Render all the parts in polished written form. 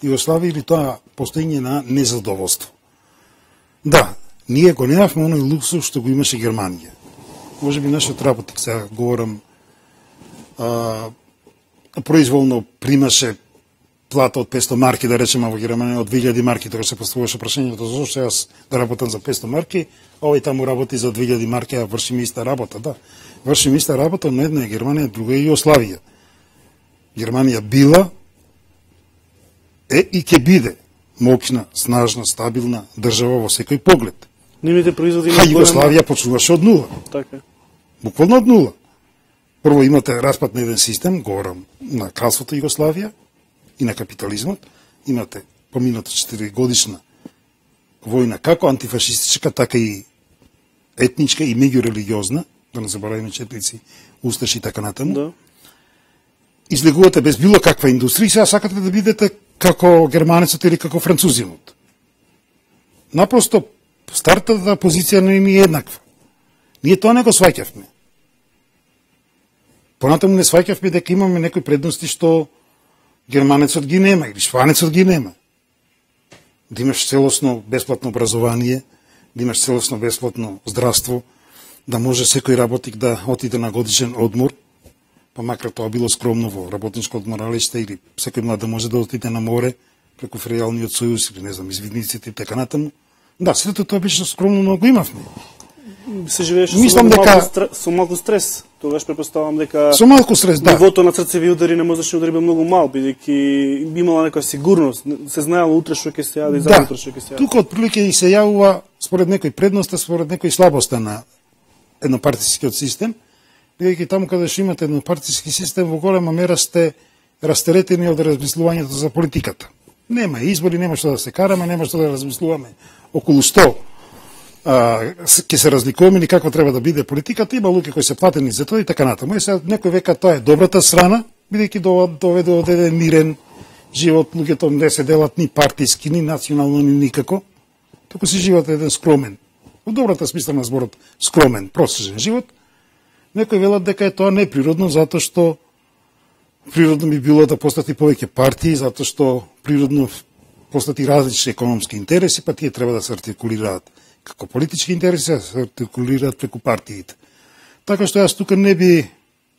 Југославија или тоа постоење на незадоволство. Да, ние го немавме оној луксус што го имаше Германија. Може би нашиот работник, сега говорам, произволно примаше плата од 500 марки, да речеме во Германија од 2000 марки, тоа се поставуваше прашањето зошто јас да работам за 500 марки, овој таму работи за 2000 марки, а вршиме иста работа, да. Вршиме иста работа, но една е Германија, друга е Југославија. Германија била и ќе биде моќна, снажна, стабилна држава во секој поглед. Нивните производи А Југославија почнуваше од нула. Така. Буквално од нула. Прво имате распад на еден систем, говорам на кралството Југославија и на капитализмот. Имате помината 4 годишна војна, како антифашистичка, така и етничка и меѓурелигиозна, да не забораваме четници, усташи и така натаму. Да. Излегувате без било каква индустрија и сега сакате да бидете како германецот или како французинот. Напросто, стартата позиција не е еднаква. Ние тоа не го сваќавме. Понатаму не сваќавме дека имаме некои предности што германецот ги нема или шпанецот ги нема. Да имаш целосно бесплатно образование, да имаш целосно бесплатно здравство, да може секој работник да отиде на годишен одмор, па макар тоа било скромно во работничко одморалиште или секој млад да може да отиде на море преку Феријалниот сојуз или не знам извидниците и така натаму. Да, сето тоа беше скромно, но го имавме. Се живееше со малку стрес. Тогаш претпоставам дека со малку стрес, да. Нивото на срцеви удари не можеше удари многу мал, бидејќи имала некоја сигурност, се знаело утре што ќе се јаде и за утре што ќе се јаде. Тука отприлike и се јавува според некој предноста, според некој слабоста на еднопартискиот систем, бидејќи таму каде што имате еднопартиски систем во голема мера сте растеретени од размислувањето за политиката. Нема избори, нема што да се караме, нема што да размислуваме околу што ќе се разликуваме или какво треба да биде политиката, има луѓе кои се платени за тоа и така натаму. И сега некој века тоа е добрата страна, бидејќи доведе од еден мирен живот, луѓето не се делат ни партиски, ни национално, ни никако, туку се живеат еден скромен, во добрата смисла на зборот, скромен, просечен живот. Некои велат дека е тоа неприродно, затоа што природно би било да постати повеќе партии, затоа што природно постати различни економски интереси, па тие треба да се артикулираат како политички интереси, да се артикулираат преку партиите. Така што јас тука не би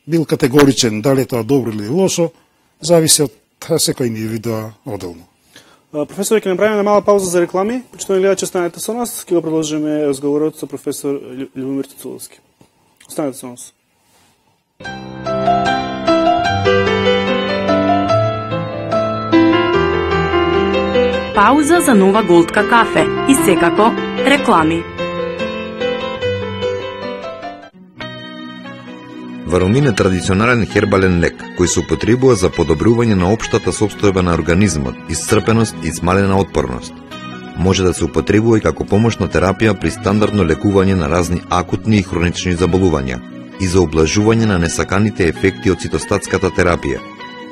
бил категоричен дали е тоа добро или лошо, зависи од секој индивидуа одделно. Професор, ќе направиме мала пауза за реклами. Почитувани гледачи, останете со нас, ќе го продолжиме разговорот со професор Љубомир Цуцуловски. Останете со нас. Пауза за нова голтка кафе и секако реклами. Варумин е традиционален хербален лек кој се употребува за подобрување на општата состојба на организмот, исцрпеност и смалена отпорност. Може да се употребува и како помошна терапија при стандардно лекување на разни акутни и хронични заболувања и за облажување на несаканите ефекти од цитостатската терапија.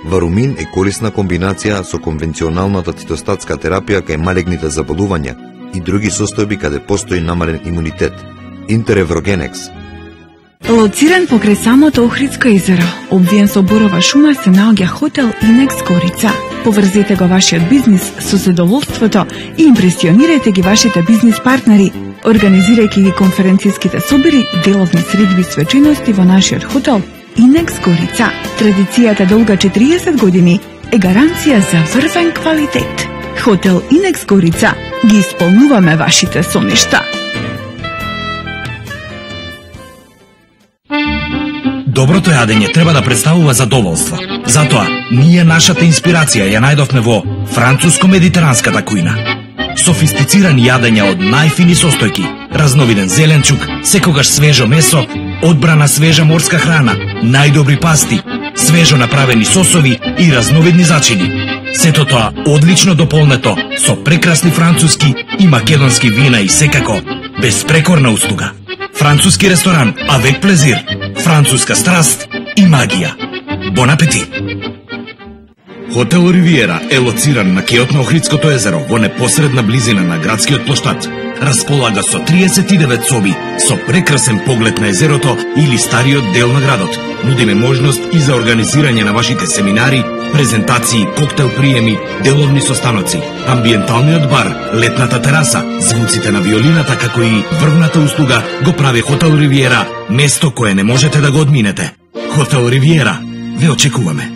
Варумин е корисна комбинација со конвенционалната цитостатска терапија кај малегните заболувања и други состојби каде постои намален имунитет. Интереврогенекс. Лоциран покрај самото Охридско езеро, обвиен со борова шума, се наоѓа хотел Инекс Горица. Поврзете го вашиот бизнис со задоволството и импресионирајте ги вашите бизнис партнери, организирајќи ги конференцијските собори, деловни средби и свечености во нашиот хотел Инекс Горица. Традицијата долга 40 години е гаранција за врвен квалитет. Хотел Инекс Горица. Ги исполнуваме вашите соништа. Доброто јадење треба да представува задоволство. Затоа, ние нашата инспирација ја најдовме во француско-медитеранската кујна. Софистицирани јадења од најфини состојки, разновиден зеленчук, секогаш свежо месо, одбрана свежа морска храна, најдобри пасти, свежо направени сосови и разновидни зачини. Сето тоа одлично дополнето со прекрасни француски и македонски вина и секако безпрекорна услуга. Француски ресторан Avec Plaisir, француска страст и магија. Бон апетит! Хотел Ривиера е лоциран на кеот на Охридското езеро во непосредна близина на градскиот плоштад. располага со 39 соби, со прекрасен поглед на езерото или стариот дел на градот. Нудиме можност и за организирање на вашите семинари, презентации, коктел приеми, деловни состаноци, амбиенталниот бар, летната тераса, звуците на виолината, како и врвната услуга го прави Хотел Ривиера, место кое не можете да го одминете. Хотел Ривиера, ве очекуваме.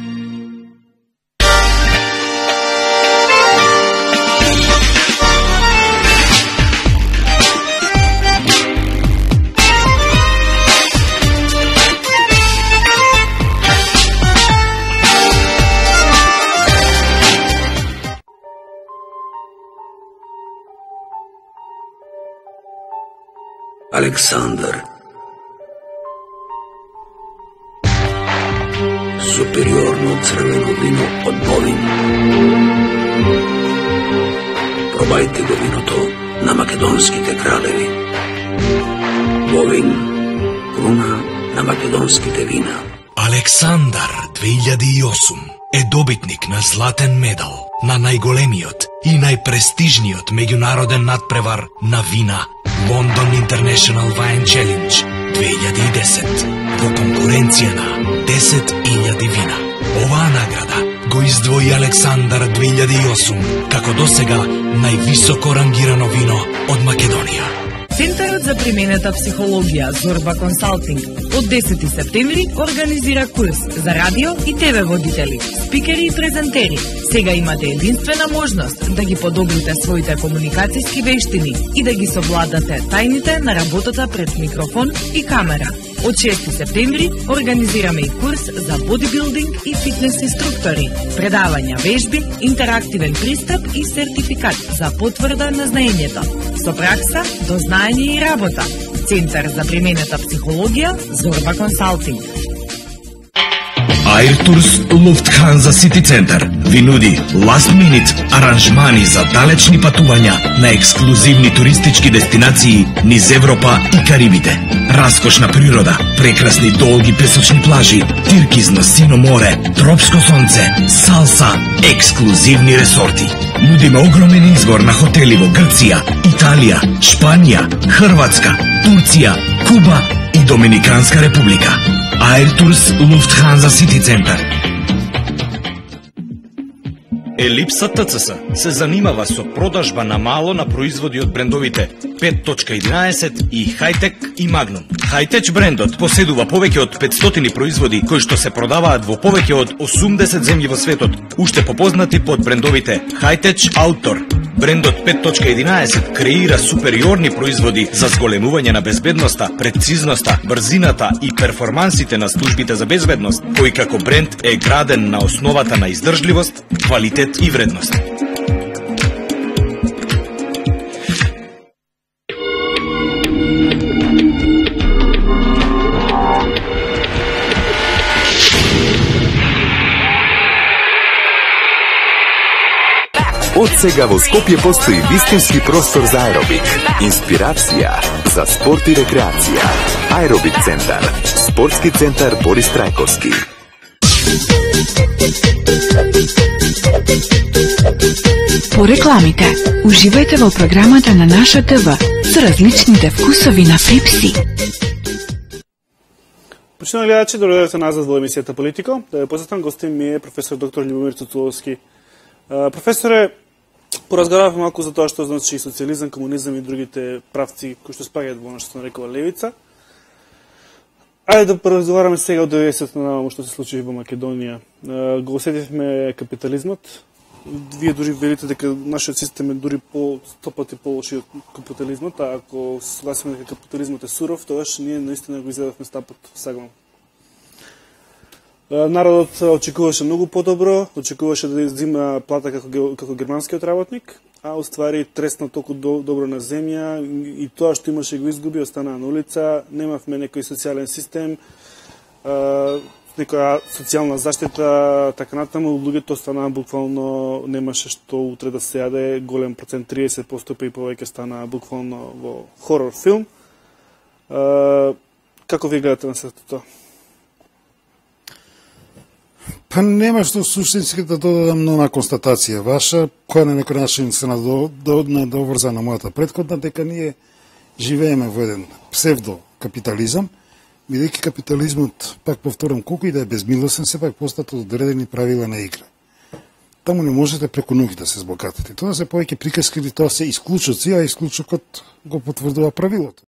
Александар. Супериорно црвено вино од Бовин. Пробајте го виното на македонските кралеви. Бовин, круна на македонските вина. Александар 2008 е добитник на златен медал на најголемиот и најпрестижниот меѓународен надпревар на вина London International Wine Challenge 2010 во конкуренција на 10.000 вина. Оваа награда го издвои Александар 2008 како досега највисоко рангирано вино од Македонија. Центарот за применета психологија Зорба Консалтинг од 10 септември организира курс за радио и ТВ водители, спикери и презентери. Сега имате единствена можност да ги подобрите своите комуникацијски вештини и да ги совладате тајните на работата пред микрофон и камера. Од 6 септември организираме и курс за бодибилдинг и фитнес инструктори, предавања вежби, интерактивен пристап и сертификат за потврда на знаењето. Со пракса, дознаење и работа. Центар за применета психологија Зорба Консалтинг. Airtours Lufthansa City Center ви нуди last minute аранжмани за далечни патувања на ексклузивни туристички дестинации низ Европа и Карибите. Раскошна природа, прекрасни долги песочни плажи, тиркизно сино море, тропско сонце, салса, ексклузивни ресорти. Нудиме огромен избор на хотели во Грција, Италија, Шпанија, Хрватска, Турција, Куба и Доминиканска република. Airtours Lufthansa City Center. Елипса ТЦС се занимава со продажба на мало на производи од брендовите 5.11 и Хайтек и Магнум. Хайтеч брендот поседува повеќе од 500 производи кои што се продаваат во повеќе од 80 земји во светот, уште попознати под брендовите Хайтеч Outdoor. Брендот 5.11 креира супериорни производи за зголемување на безбедноста, прецизноста, брзината и перформансите на службите за безбедност, кој како бренд е граден на основата на издржливост, квалитет и вредност. Од сега во Скопје постои вистински простор за аеробик, инспирација за спорт и рекреација. Аеробик центар, спортски центар Борис Трајковски. По рекламите, уживајте во програмата на наша ТВ со различните вкусови на Пепси. Почитувани гледачи, добро назад во емисијата Политико. Да ја посетам гостин ми е професор доктор Љубомир Цуцуловски. Професоре, поразговаравме малку за тоа што значи социјализам, комунизам и другите правци кои што спаѓаат во она што се нарекува левица. Ајде да поразговараме сега од 90-та наваму што се случи во Македонија. Го осетивме капитализмот. Вие дури велите дека нашиот систем е дури по 100 пати полоши од капитализмот, а ако се согласиме дека капитализмот е суров, тогаш ние наистина го изгледавме стапот сагано. Народот очекуваше многу подобро, очекуваше да иззима плата како германскиот работник, а уствари тресна толку добро на земја и тоа што имаше го изгуби, остана на улица, немавме некој социјален систем, некоја социјална заштита, така натаму, луѓето останаа буквално, немаше што утре да се јаде, голем процент, 30% и повеќе стана буквално во хорор филм. Како ви гледате на сето тоа? Па нема што суштински да додадам нова констатација ваша, која на некој начин се надоврза на мојата претходна, дека ние живееме во еден псевдокапитализам, бидејќи капитализмот, пак повторам, колку и да е безмилосен, сепак постат одредени правила на игра. Таму не можете преку ноги да се збогатите. Тоа се повеќе приказки или тоа се исклучоци, а исклучокот го потврдува правилото.